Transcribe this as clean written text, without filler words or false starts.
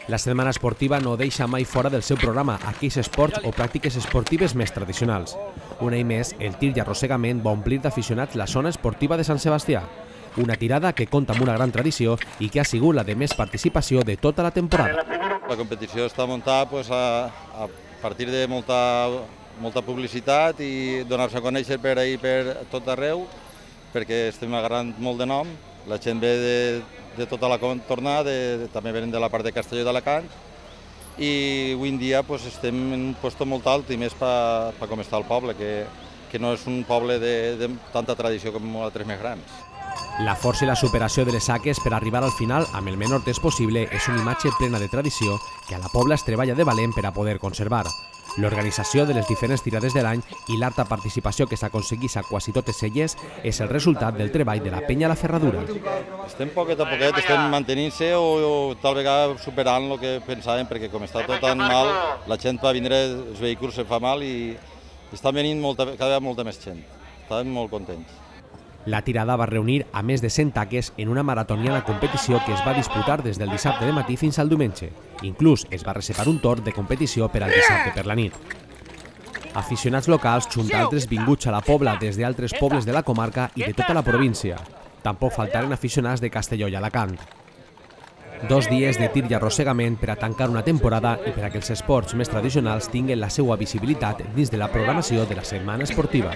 La setmana esportiva no deixa mai fora del seu programa aquells esports o pràctiques esportives més tradicionals. Un any més, el tir i arrossegament va omplir d'aficionats la zona esportiva de Sant Sebastià. Una tirada que compta amb una gran tradició i que ha sigut la de més participació de tota la temporada. La competició està muntada a partir de molta publicitat i donar-se a conèixer per ahir per tot arreu, perquè estem agarrant molt de nom. La gent ve de tota la contornada, també venen de la part de Castelló i d'Alacant, i avui en dia estem en un lloc molt alt, i més per com està el poble, que no és un poble de tanta tradició com altres més grans. La força i la superació de les saques per arribar al final amb el menor temps possible és una imatge plena de tradició que a la Pobla es treballa de valent per a poder conservar. L'organització de les diferents tirades de l'any i l'alta participació que s'aconseguís a quasi totes elles és el resultat del treball de la penya a la ferradura. Estem poquet a poquet, estem mantenint-se o tal vegada superant el que pensàvem, perquè com està tot tan mal, la gent va vindre, els vehicles se fa mal i estan venint cada vegada molta més gent. Estem molt contents. La tirada va reunir a més de 100 taques en una maratoniana competició que es va disputar des del dissabte de matí fins al diumenge. Inclús es va reservar un torn de competició per al dissabte per la nit. Aficionats locals junt a altres vinguts a la Pobla des d'altres pobles de la comarca i de tota la província. Tampoc faltaren aficionats de Castelló i Alacant. 2 dies de tir i arrossegament per a tancar una temporada i per a que els esports més tradicionals tinguin la seva visibilitat dins de la programació de la setmana esportiva.